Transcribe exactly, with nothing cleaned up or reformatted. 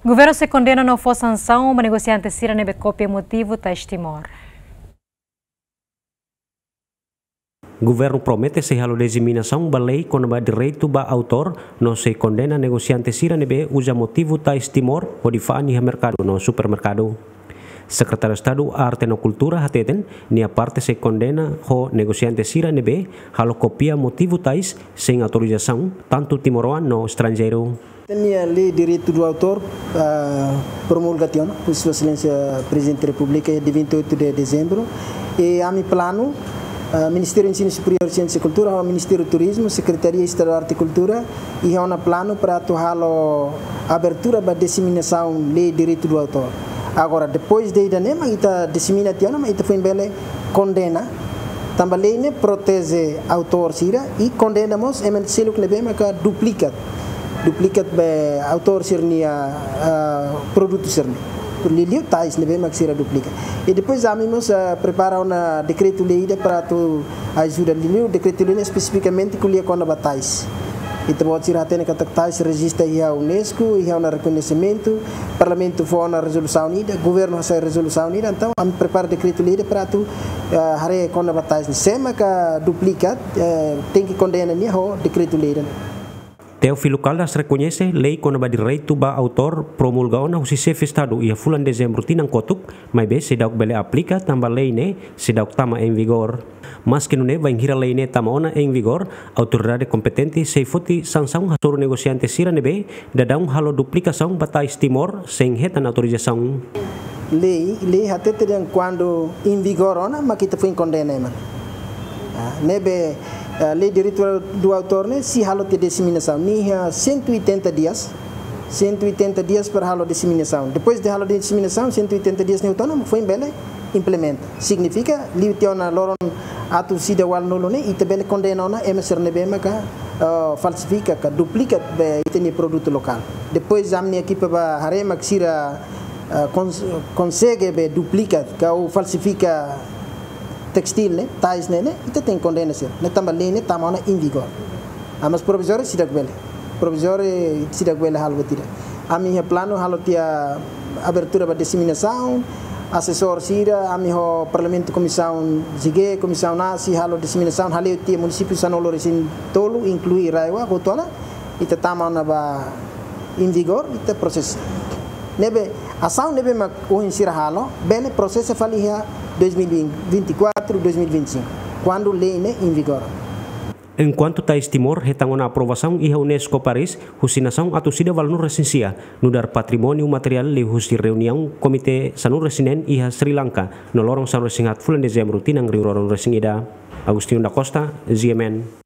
Governu sei kondena no fó sansaun ba negosiante sira ne'ebé kopia motivu tais Timor. Governu promete sei halo diseminasaun ba lei kona-ba direitu ba autór, no sei kondena negosiante sira ne'ebé uza motivu tais Timor hodi fa'an iha merkadu no supermerkadu. Sekretáriu Estadu Arte no Kultura hateten, nia parte sei kondena ho negosiante sira ne'ebé halo kopia motivu tais sein autorizasaun, tantu timoroan no estranjeiru. Ita-nia lei direitu do autór, ah, promulga tiha ona, husi Sua Exelénsia Prezidente Repúblika, dia vinte e oito de dezembro. I ami planu, ah, Ministériu Ensinu Superiór, Siénsia i Kultura, ho Ministériu Turizmu, Sekretaria Estadu Arte i Kultura, iha ona planu para atu halo abertura ba diseminasaun lei direitu do autór. Agora, depois de ida-ne'e mak ita disemina tiha ona, mak ita foin bele kondena, tanba lei ne'e proteje autór sira i kondena mós ema seluk ne'ebé maka duplikat. Duplikat be autór sira-nia, ah, produtu sira-ne'e. Liuliu tais ne'ebé mak sira duplika. I depois ami mós, ah, prepara ona dekretu-lei ida para atu ajuda. Liuliu dekretu-lei ne'e espesifikamente ko'alia kona-ba tais. Ita-boot sira hatene katak tais rejista iha UNESCO, iha ona rekoñesimentu, Parlamentu fó ona rezolusaun ida, Governu hasai rezolusaun ida, entaun ami prepara dekretu-lei ida para atu, eh, haree kona-ba tais ne'e. Sé maka duplikat, eh, tenke kondena nia ho dekretu-lei ida. Teófilo Caldas rekoñese lei kona-ba direitu ba autór promulga ona husi Xefe Estadu iha fulan Dezembru tinan kotuk, maibé seidauk bele aplika tanba lei ne'e seidauk tama em vigor. Maski nune'e, bainhira lei ne'e tama ona em vigor, autoridade kompetente sei foti sansaun hasoru negosiante sira ne'ebé daudaun halo duplikasaun ba tais Timor sein hetan autorizasaun. Lei, lei hatete dehan kuandu em vigor ona, mak ita foin kondena ema. Ah, ne'ebé, ah, lei direitu do autór ne'e sei halo tiha diseminasaun. Nia iha cento e oitenta dias, cento e oitenta dias para halo diseminasaun. Depois de halo diseminasaun, cento e oitenta dias ne'e hotu ona, foin bele implementa. Signifika, liu tiha ona loron atus ida ualunulu ne'e, ita bele kondena ona ema sira ne'ebé maka, ah, falsifika ka duplika be ita-nia produtu lokál. Depois ami-nia ekipa bá haree mak sira, ah, kons-, konsege be duplika ka ou falsifika testíl ne'e, tais ne'e, ne'e, ita tenke kondena sira. Ne'e tanba lei ne'e tama ona em vigor. Ah, mas provizóriu seidauk bele. Provizóriu seidauk bele halo buat ida. Ami iha planu halo tiha abertura ba diseminasaun, asesór sira, ami ho Parlamentu Komisaun G, Komisaun A sei halo diseminasaun, hale'u tiha munisípiu sanulu-resin-tolu, inklui RAEOA, hotu ona, ita tama ona ba em vigor, ita prosesa. Ne'ebé, asaun ne'ebé mak ohin sira halo, bele prosesa fali iha dois mil e vinte e quatro, dois mil e vinte e cinco, kuandu lei ne'e em vigor. Enkuantu tais Timor hetan ona aprovasaun iha UNESCO Paris, husi nasaun atus ida ualunulu-resin-sia, nu'udar patrimóniu materiál liuhusi reuniaun Komité sanulu-resin-neen iha Sri Lanka, no loron sanulu-resin-haat fulan Dezembru tinan rihun rua ruanulu-resin-ida. Agostinho da Costa, G M N.